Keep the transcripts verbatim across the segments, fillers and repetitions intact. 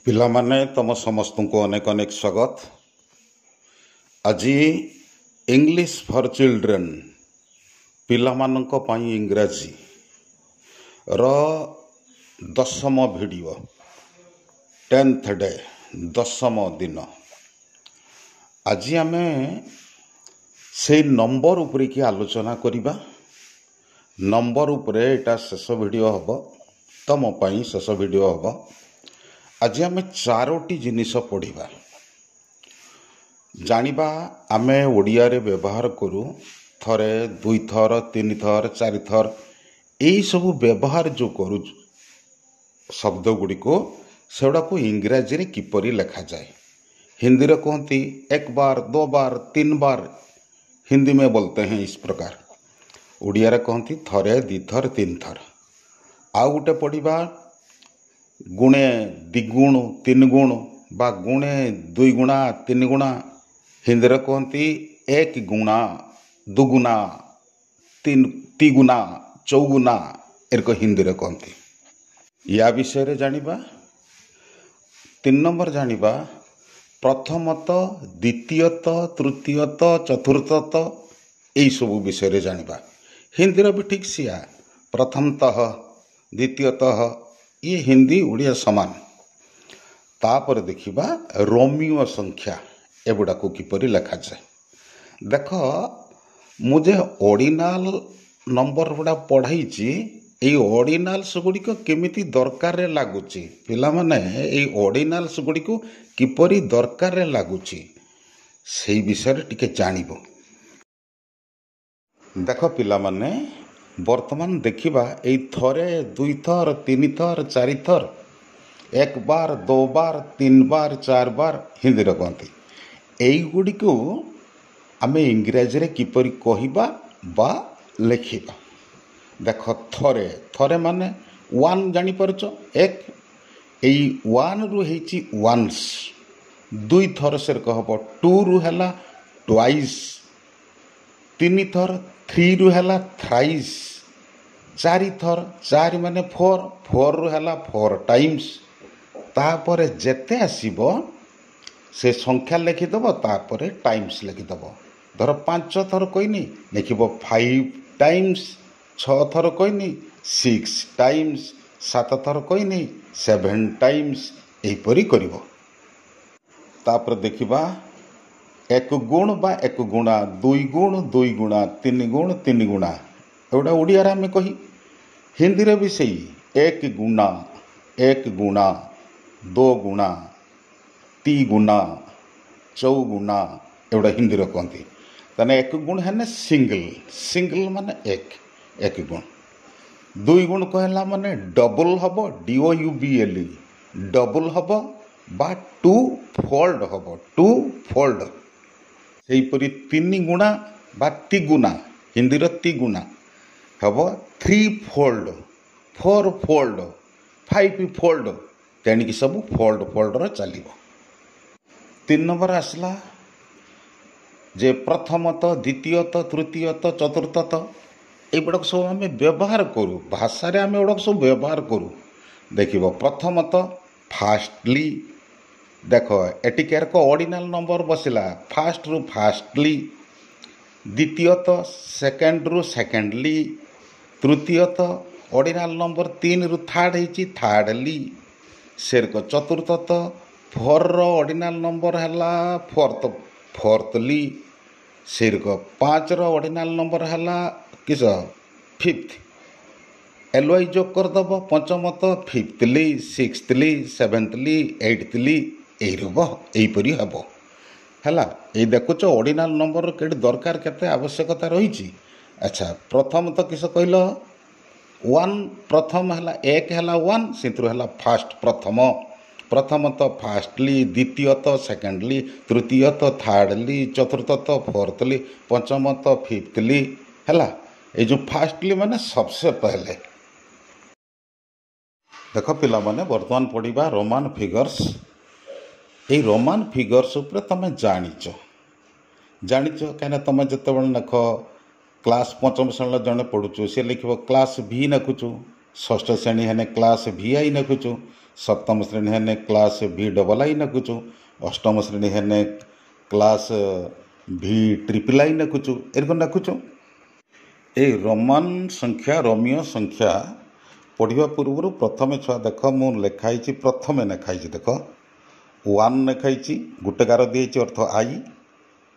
ପିଲାମାନେ ତମ ସମସ୍ତଙ୍କୁ ଅନେକ ଅନେକ ସ୍ୱାଗତ ଆଜି ଇଂଲିଶ ଫର୍ ଚିଲଡ୍ରେନ୍ ପିଲାମାନଙ୍କ ପାଇଁ ଇଂରାଜୀ ର ଦଶମ ଭିଡ଼ିଓ ଟେନ୍ଥ ଡେ ଦଶମ ଦିନ ଆଜି ଆମେ ସେଇ ନମ୍ବର ଉପରେକି ଆଲୋଚନା କରିବା ନମ୍ବର ଉପରେ ଏଇଟା ଶେଷ ଭିଡ଼ିଓ ହେବ ତମ ପାଇଁ ଶେଷ ଭିଡ଼ିଓ ହେବ ଆଜି ଆମେ ଚାରୋଟି ଜିନିଷ ପଢ଼ିବା ଜାଣିବା ଆମେ ଓଡ଼ିଆରେ ବ୍ୟବହାର କରୁ ଥରେ ଦୁଇଥର ତିନିଥର ଚାରିଥର ଏଇସବୁ ବ୍ୟବହାର ଯେଉଁ କରୁଛୁ ଶବ୍ଦ ଗୁଡ଼ିକୁ ସେଗୁଡ଼ାକୁ ଇଂରାଜୀରେ କିପରି ଲେଖାଯାଏ ହିନ୍ଦୀରେ କୁହନ୍ତି ଏକ ବାର दो बार तीन बार हिंदी में बोलते हैं इस प्रकार ଓଡ଼ିଆରେ କହନ୍ତି ଥରେ ଦୁଇଥର ତିନିଥର ଆଉ ଗୋଟେ ପଢ଼ିବା ଗୁଣେ ଦ୍ୱିଗୁଣ ତିନି ଗୁଣ ବା ଗୁଣେ ଦୁଇ ଗୁଣା ତିନି ଗୁଣା ହିନ୍ଦୀରେ କୁହନ୍ତି ଏକ ଗୁଣା ଦୁଗୁନା ତିନ ତିଗୁନା ଚଉଗୁନା ଏରକ ହିନ୍ଦୀରେ କହନ୍ତି ୟା ବିଷୟରେ ଜାଣିବା ତିନି ନମ୍ବର ଜାଣିବା ପ୍ରଥମତଃ ଦ୍ୱିତୀୟତଃ ତୃତୀୟତଃ ଚତୁର୍ଥତଃ ଏଇସବୁ ବିଷୟରେ ଜାଣିବା ହିନ୍ଦୀର ବି ଠିକ୍ ସେୟା ପ୍ରଥମତଃ ଦ୍ୱିତୀୟତଃ ଇଏ ହିନ୍ଦୀ ଓଡ଼ିଆ ସମାନ ତାପରେ ଦେଖିବା ରୋମିଓ ସଂଖ୍ୟା ଏଗୁଡ଼ାକୁ କିପରି ଲେଖାଯାଏ ଦେଖ ମୁଁ ଯେ ଅର୍ଡ଼ିନାଲ ନମ୍ବର ଗୁଡ଼ା ପଢ଼ାଇଛି ଏଇ ଅର୍ଡ଼ିନାଲ୍ସ ଗୁଡ଼ିକ କେମିତି ଦରକାରରେ ଲାଗୁଛି ପିଲାମାନେ ଏଇ ଅର୍ଡ଼ିନାଲ୍ସ ଗୁଡ଼ିକୁ କିପରି ଦରକାରରେ ଲାଗୁଛି ସେଇ ବିଷୟରେ ଟିକେ ଜାଣିବ ଦେଖ ପିଲାମାନେ ବର୍ତ୍ତମାନ ଦେଖିବା ଏଇ ଥରେ ଦୁଇଥର ତିନିଥର ଚାରିଥର ଏକ ବାର दो बार तीन बार चार बार ହିନ୍ଦୀରେ କହନ୍ତି ଏଇଗୁଡ଼ିକୁ ଆମେ ଇଂରାଜୀରେ କିପରି କହିବା ବା ଲେଖିବା ଦେଖ ଥରେ ଥରେ ମାନେ ୱାନ୍ ଜାଣିପାରୁଛ ଏକ ଏଇ ୱାନ୍ରୁ ହେଇଛି ୱାନ୍ସ ଦୁଇଥର ସେରକ ହେବ ଟୁରୁ ହେଲା ଟ୍ୱାଇସ୍ ତିନିଥର ଥ୍ରୀରୁ ହେଲା ଥ୍ରାଇସ୍ ଚାରିଥର ଚାରି ମାନେ ଫୋର୍ ଫୋର୍ରୁ ହେଲା ଫୋର୍ ଟାଇମ୍ସ ତାପରେ ଯେତେ ଆସିବ ସେ ସଂଖ୍ୟା ଲେଖିଦେବ ତାପରେ ଟାଇମ୍ସ ଲେଖିଦେବ ଧର ପାଞ୍ଚ ଥର କହିନି ଲେଖିବ ଫାଇଭ୍ ଟାଇମ୍ସ ଛଅ ଥର କହିନି ସିକ୍ସ ଟାଇମ୍ସ ସାତ ଥର କହିନି ସେଭେନ୍ ଟାଇମ୍ସ ଏହିପରି କରିବ ତାପରେ ଦେଖିବା ଏକ ଗୁଣ ବା ଏକ ଗୁଣା ଦୁଇ ଗୁଣ ଦୁଇ ଗୁଣା ତିନି ଗୁଣ ତିନି ଗୁଣା ଏଗୁଡ଼ା ଓଡ଼ିଆରେ ଆମେ କହି ହିନ୍ଦୀରେ ବି ସେଇ ଏକ ଗୁଣା ଏକ ଗୁଣା दो गुणा ତି ଗୁଣା ଚଉଗୁଣା ଏଗୁଡ଼ା ହିନ୍ଦୀରେ କହନ୍ତି ତାହେଲେ ଏକ ଗୁଣ ହେଲେ ସିଙ୍ଗଲ ସିଙ୍ଗଲ ମାନେ ଏକ ଏକ ଗୁଣ ଦୁଇ ଗୁଣ କହିଲା ମାନେ ଡବଲ ହେବ D O U B L E double ହେବ ବା ଟୁ ଫୋଲ୍ଡ ହେବ ଟୁ ଫୋଲ୍ଡ ସେହିପରି ତିନି ଗୁଣା ବା ତିଗୁଣା ହିନ୍ଦୀର ତିଗୁଣା ହେବ three fold four fold five fold ତେଣିକି ସବୁ ଫୋଲ୍ଡ ଫୋଲ୍ଡର ଚାଲିବ ତିନି ନମ୍ବର ଆସିଲା ଯେ ପ୍ରଥମତଃ ଦ୍ୱିତୀୟତଃ ତୃତୀୟତଃ ଚତୁର୍ଥତଃ ଏଗୁଡ଼ାକ ସବୁ ଆମେ ବ୍ୟବହାର କରୁ ଭାଷାରେ ଆମେ ଏଗୁଡ଼ାକ ସବୁ ବ୍ୟବହାର କରୁ ଦେଖିବ ପ୍ରଥମତଃ ଫାଷ୍ଟଲି ଦେଖ ଏଠି କେରକ ଅର୍ଡ଼ିନାଲ ନମ୍ବର ବସିଲା ଫାଷ୍ଟରୁ ଫାଷ୍ଟଲି ଦ୍ୱିତୀୟତଃ ସେକେଣ୍ଡରୁ ସେକେଣ୍ଡଲି ତୃତୀୟତଃ ଅର୍ଡ଼ିନାଲ ନମ୍ବର ତିନିରୁ ଥାର୍ଡ଼ ହେଇଛି ଥାର୍ଡ଼ଲି ସେରକ ଚତୁର୍ଥତଃ ଫୋର୍ର ଅର୍ଡ଼ିନାଲ ନମ୍ବର ହେଲା ଫୋର୍ଥ ଫୋର୍ଥଲି ସେରକ ପାଞ୍ଚର ଅର୍ଡ଼ିନାଲ ନମ୍ବର ହେଲା କିସ ଫିଫ୍ଥ ଏଲ୍ ୱାଇ ଯୋଗ କରିଦେବ ପଞ୍ଚମତଃ ଫିଫ୍ଥଲି ସିକ୍ସଥଲି ସେଭେନ୍ଥଲି ଏଇଟ୍ଥଲି ଏଇ ରୂପ ଏହିପରି ହେବ ହେଲା ଏଇ ଦେଖୁଛ ଅର୍ଡ଼ିନାଲ ନମ୍ବର କେଠି ଦରକାର କେତେ ଆବଶ୍ୟକତା ରହିଛି ଆଚ୍ଛା ପ୍ରଥମତଃ କିସ କହିଲ ୱାନ୍ ପ୍ରଥମ ହେଲା ଏକ ହେଲା ୱାନ୍ ସେଥିରୁ ହେଲା ଫାଷ୍ଟ ପ୍ରଥମ ପ୍ରଥମତଃ ଫାଷ୍ଟଲି ଦ୍ୱିତୀୟତଃ ସେକେଣ୍ଡଲି ତୃତୀୟତଃ ଥାର୍ଡ଼ଲି ଚତୁର୍ଥତଃ ଫୋର୍ଥଲି ପଞ୍ଚମତଃ ଫିଫ୍ଥଲି ହେଲା ଏଇ ଯେଉଁ ଫାଷ୍ଟଲି ମାନେ सबसे पहले ଦେଖ ପିଲାମାନେ ବର୍ତ୍ତମାନ ପଢ଼ିବା ରୋମାନ ଫିଗର୍ସ ଏଇ ରୋମାନ ଫିଗର୍ସ ଉପରେ ତୁମେ ଜାଣିଛ ଜାଣିଛ କାହିଁକିନା ତୁମେ ଯେତେବେଳେ ଲେଖ କ୍ଲାସ୍ ପଞ୍ଚମ ଶ୍ରେଣୀର ଜଣେ ପଢ଼ୁଛୁ ସେ ଲେଖିବ କ୍ଲାସ୍ ଭି ଲେଖୁଛୁ ଷଷ୍ଠ ଶ୍ରେଣୀ ହେନେ କ୍ଲାସ୍ ଭି I ନେଖୁଛୁ ସପ୍ତମ ଶ୍ରେଣୀ ହେନେ କ୍ଲାସ୍ ଭି ଡବଲ୍ I ନେଖୁଛୁ ଅଷ୍ଟମ ଶ୍ରେଣୀ ହେନେ କ୍ଲାସ୍ ଭି ଟ୍ରିପଲ୍ I ନେଖୁଛୁ ଏରକମ ଲେଖୁଛୁ ଏଇ ରୋମାନ ସଂଖ୍ୟା ରୋମୀୟ ସଂଖ୍ୟା ପଢ଼ିବା ପୂର୍ବରୁ ପ୍ରଥମେ ଛୁଆ ଦେଖ ମୁଁ ଲେଖା ହେଇଛି ପ୍ରଥମେ ଲେଖା ହେଇଛି ଦେଖ ୱାନ୍ ଲେଖା ହେଇଛି ଗୋଟେ ଗାର ଦିଆହେଇଛି ଅର୍ଥ I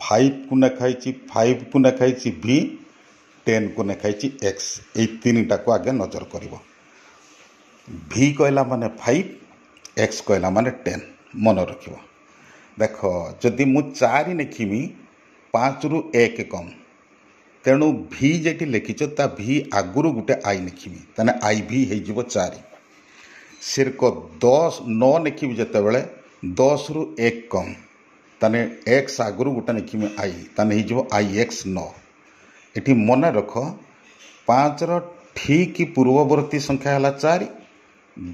ଫାଇଭକୁ ଲେଖା ହେଇଛି ଫାଇଭକୁ ଲେଖା ହେଇଛି ଭି ଟେନ୍କୁ ଲେଖା ହେଇଛି ଏକ୍ସ ଏଇ ତିନିଟାକୁ ଆଗେ ନଜର କରିବ ଭି କହିଲା ମାନେ ଫାଇଭ୍ ଏକ୍ସ କହିଲା ମାନେ ଟେନ୍ ମନେ ରଖିବ ଦେଖ ଯଦି ମୁଁ ଚାରି ଲେଖିମି ପାଞ୍ଚରୁ ଏକ କମ୍ ତେଣୁ ଭି ଯେଠି ଲେଖିଛ ତା ଭି ଆଗରୁ ଗୋଟେ I ଲେଖିବି ତାହେଲେ I V ହେଇଯିବ ଚାରି ସେରକ ଦଶ ନଅ ଲେଖିବି ଯେତେବେଳେ ଦଶରୁ ଏକ କମ୍ ତାହେଲେ ଏକ୍ସ ଆଗରୁ ଗୋଟେ ଲେଖିବି I ତାହେଲେ ହେଇଯିବ I X ନଅ ଏଠି ମନେ ରଖ ପାଞ୍ଚର ଠିକ୍ ପୂର୍ବବର୍ତ୍ତୀ ସଂଖ୍ୟା ହେଲା ଚାରି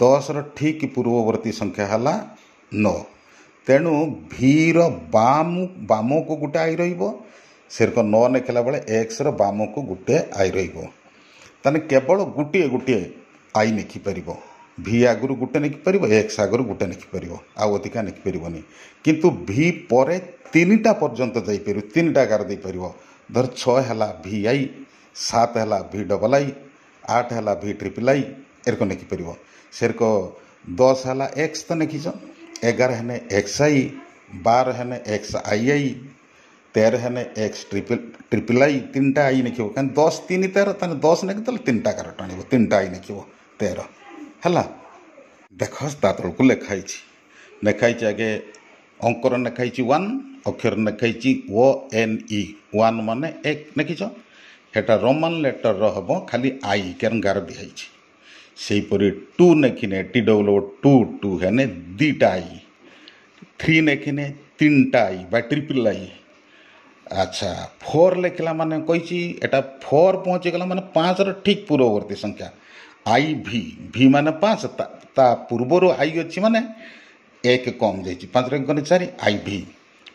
ଦଶର ଠିକ୍ ପୂର୍ବବର୍ତ୍ତୀ ସଂଖ୍ୟା ହେଲା ନଅ ତେଣୁ ଭିର ବାମ ବାମକୁ ଗୋଟେ I ରହିବ ସେରକ ନଅ ଲେଖିଲା ବେଳେ ଏକ୍ସର ବାମକୁ ଗୋଟେ I ରହିବ ତାହେଲେ କେବଳ ଗୋଟିଏ ଗୋଟିଏ I ଲେଖିପାରିବ ଭି ଆଗରୁ ଗୋଟେ ଲେଖିପାରିବ ଏକ୍ସ ଆଗରୁ ଗୋଟେ ଲେଖିପାରିବ ଆଉ ଅଧିକା ଲେଖିପାରିବନି କିନ୍ତୁ ଭି ପରେ ତିନିଟା ପର୍ଯ୍ୟନ୍ତ ଯାଇପାରିବ ତିନିଟା ଗାର ଦେଇପାରିବ ଧର ଛଅ ହେଲା ଭି I ସାତ ହେଲା ଭି ଡବଲ୍ I ଆଠ ହେଲା ଭି ଟ୍ରିପଲ୍ I ଏରକ ଲେଖିପାରିବ ସେରକ ଦଶ ହେଲା ଏକ୍ସ ତ ଲେଖିଛ ଏଗାର ହେନେ ଏକ୍ସ I ବାର ହେନେ ଏକ୍ସ I I ତେର ହେନେ ଏକ୍ସ ଟ୍ରିପଲ୍ ଟ୍ରିପଲ୍ I ତିନିଟା I ଲେଖିବ କାରଣ ଦଶ ତିନି ତେର ତାହେଲେ ଦଶ ଲେଖିଦେଲେ ତିନିଟା ଗାର ଟାଣିବ ତିନିଟା I ଲେଖିବ ତେର ହେଲା ଦେଖ ତା ତଳକୁ ଲେଖା ହେଇଛି ଲେଖା ହେଇଛି ଆଗେ ଅଙ୍କର ଲେଖା ହେଇଛି ୱାନ୍ ଅକ୍ଷର ଲେଖା ହେଇଛି ଓ ଏନ୍ ଇ ୱାନ୍ ମାନେ ଏକ ଲେଖିଛ ସେଟା ରୋମାନ ଲେଟର୍ର ହେବ ଖାଲି I କାରଣ ଗାର ଦିଆହେଇଛି ସେହିପରି ଟୁ ଲେଖିନେ ଟି ଡବଲ୍ ଓ ଟୁ ଟୁ ହେନେ ଦୁଇଟା I three ଲେଖିନେ ତିନିଟା I ବା ଟ୍ରିପଲ୍ I ଆଚ୍ଛା ଫୋର୍ ଲେଖିଲା ମାନେ କହିଛି ଏଟା ଫୋର୍ ପହଞ୍ଚିଗଲା ମାନେ ପାଞ୍ଚର ଠିକ୍ ପୂର୍ବବର୍ତ୍ତୀ ସଂଖ୍ୟା I V ଭି ମାନେ ପାଞ୍ଚ ତା ପୂର୍ବରୁ I ଅଛି ମାନେ ଏକ କମ୍ ଯାଇଛି ପାଞ୍ଚରେ ଏକ କଲେ ଚାରି I V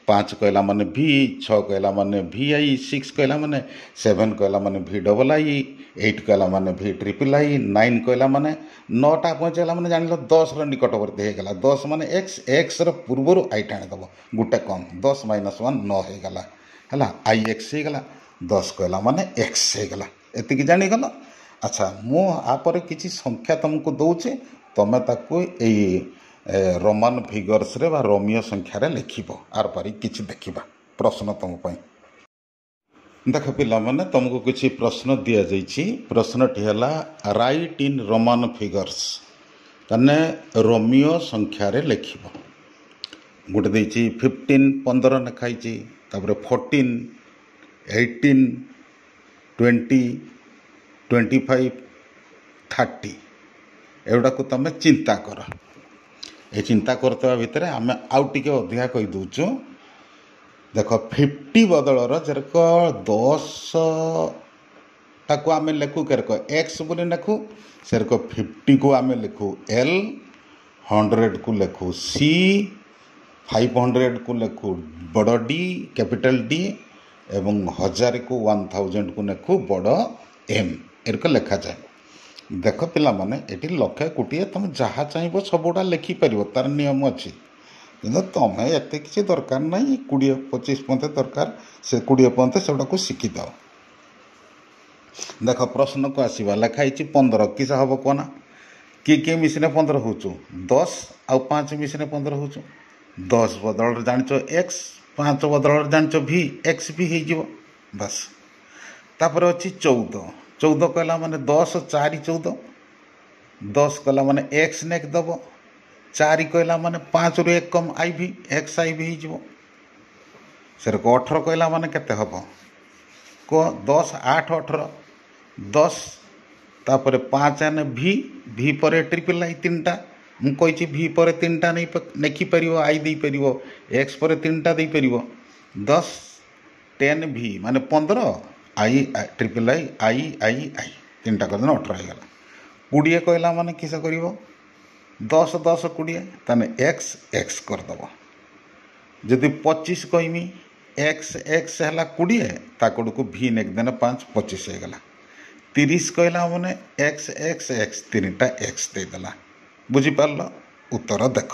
ପାଞ୍ଚ କହିଲା ମାନେ ଭି ଛଅ କହିଲା ମାନେ ଭି I six କହିଲା ମାନେ ସେଭେନ୍ କହିଲା ମାନେ ଭି ଡବଲ୍ I eight କହିଲା ମାନେ ଭି ଟ୍ରିପଲ୍ I nine କହିଲା ମାନେ ନଅଟା ପହଞ୍ଚିଗଲା ମାନେ ଜାଣିଲ ଦଶର ନିକଟବର୍ତ୍ତୀ ହେଇଗଲା ଦଶ ମାନେ ଏକ୍ସ ଏକ୍ସର ପୂର୍ବରୁ I ଟାଣିଦେବ ଗୋଟେ କମ୍ ଦଶ ମାଇନସ୍ ୱାନ୍ ନଅ ହେଇଗଲା ହେଲା I X ହେଇଗଲା ଦଶ କହିଲା ମାନେ ଏକ୍ସ ହେଇଗଲା ଏତିକି ଜାଣିଗଲ ଆଚ୍ଛା ମୁଁ ଆପରେ କିଛି ସଂଖ୍ୟା ତୁମକୁ ଦେଉଛି ତୁମେ ତାକୁ ଏଇ ରୋମାନ ଫିଗର୍ସରେ ବା ରୋମିଓ ସଂଖ୍ୟାରେ ଲେଖିବ ଆର ପାରି କିଛି ଦେଖିବା ପ୍ରଶ୍ନ ତୁମ ପାଇଁ ଦେଖ ପିଲାମାନେ ତୁମକୁ କିଛି ପ୍ରଶ୍ନ ଦିଆଯାଇଛି ପ୍ରଶ୍ନଟି ହେଲା ରାଇଟ୍ ଇନ୍ ରୋମାନ ଫିଗର୍ସ ତାହେଲେ ରୋମିଓ ସଂଖ୍ୟାରେ ଲେଖିବ ଗୋଟେ ଦେଇଛି ଫିଫ୍ଟିନ୍ ପନ୍ଦର ଲେଖା ହେଇଛି ତାପରେ fourteen eighteen twenty twenty five thirty ଏଗୁଡ଼ାକୁ ତୁମେ ଚିନ୍ତା କର ଏ ଚିନ୍ତା କରୁଥିବା ଭିତରେ ଆମେ ଆଉ ଟିକେ ଅଧିକା କହିଦେଉଛୁ ଦେଖ ଫିଫ୍ଟି ବଦଳର ଯେରକ ଦଶଟାକୁ ଆମେ ଲେଖୁ କେରକ ଏକ୍ସ ବୋଲି ଲେଖୁ ସେରକ ଫିଫ୍ଟିକୁ ଆମେ ଲେଖୁ ଏଲ୍ ହଣ୍ଡ୍ରେଡ଼କୁ ଲେଖୁ ସି ଫାଇଭ୍ ହଣ୍ଡ୍ରେଡ଼କୁ ଲେଖୁ ବଡ଼ ଡି କ୍ୟାପିଟାଲ୍ ଡି ଏବଂ ହଜାରକୁ ୱାନ୍ ଥାଉଜେଣ୍ଡକୁ ଲେଖୁ ବଡ଼ ଏମ୍ ଏରକ ଲେଖାଯାଏ ଦେଖ ପିଲାମାନେ ଏଠି ଲକ୍ଷେ କୋଟିଏ ତୁମେ ଯାହା ଚାହିଁବ ସବୁଗୁଡ଼ା ଲେଖିପାରିବ ତା'ର ନିୟମ ଅଛି କିନ୍ତୁ ତୁମେ ଏତେ କିଛି ଦରକାର ନାହିଁ କୋଡ଼ିଏ ପଚିଶ ପର୍ଯ୍ୟନ୍ତ ଦରକାର ସେ କୋଡ଼ିଏ ପର୍ଯ୍ୟନ୍ତ ସେଗୁଡ଼ାକୁ ଶିଖିଥାଅ ଦେଖ ପ୍ରଶ୍ନକୁ ଆସିବା ଲେଖା ହେଇଛି ପନ୍ଦର କିସ ହେବ କୁହନା କିଏ କିଏ ମିଶିଲେ ପନ୍ଦର ହେଉଛୁ ଦଶ ଆଉ ପାଞ୍ଚ ମିଶିଲେ ପନ୍ଦର ହେଉଛୁ ଦଶ ବଦଳରେ ଜାଣିଛ ଏକ୍ସ ପାଞ୍ଚ ବଦଳରେ ଜାଣିଛ ଭି ଏକ୍ସ ଭି ହେଇଯିବ ବାସ୍ ତାପରେ ଅଛି ଚଉଦ ଚଉଦ କହିଲା ମାନେ ଦଶ ଚାରି ଚଉଦ ଦଶ କହିଲା ମାନେ ଏକ୍ସ ନେକ୍ ଦେବ ଚାରି କହିଲା ମାନେ ପାଞ୍ଚରୁ ଏକ କମ୍ I V X I V ହେଇଯିବ ସେରକ ଅଠର କହିଲା ମାନେ କେତେ ହେବ କୁହ ଦଶ ଆଠ ଅଠର ଦଶ ତାପରେ ପାଞ୍ଚ ହେନେ ଭି ଭି ପରେ ଟ୍ରିପଲ୍ I ତିନିଟା ମୁଁ କହିଛି ଭି ପରେ ତିନିଟା ନେଇ ଲେଖିପାରିବ I ଦେଇପାରିବ ଏକ୍ସ ପରେ ତିନିଟା ଦେଇପାରିବ ଦଶ ଟେନ୍ ଭି ମାନେ ପନ୍ଦର I triple I I I I ତିନିଟା କରିଦେଲେ ଅଠର ହେଇଗଲା କୋଡ଼ିଏ କହିଲା ମାନେ କିସ କରିବ ଦଶ ଦଶ କୋଡ଼ିଏ ତାହେଲେ ଏକ୍ସ ଏକ୍ସ କରିଦେବ ଯଦି ପଚିଶ କହିମି ଏକ୍ସ ଏକ୍ସ ହେଲା କୋଡ଼ିଏ ତା କଡ଼କୁ ଭି ନେଖିଦେଲେ ପାଞ୍ଚ ପଚିଶ ହେଇଗଲା ତିରିଶ କହିଲା ମାନେ ଏକ୍ସ ଏକ୍ସ ଏକ୍ସ, ତିନିଟା ଏକ୍ସ ଦେଇଦେଲା। ବୁଝିପାରିଲ? ଉତ୍ତର ଦେଖ।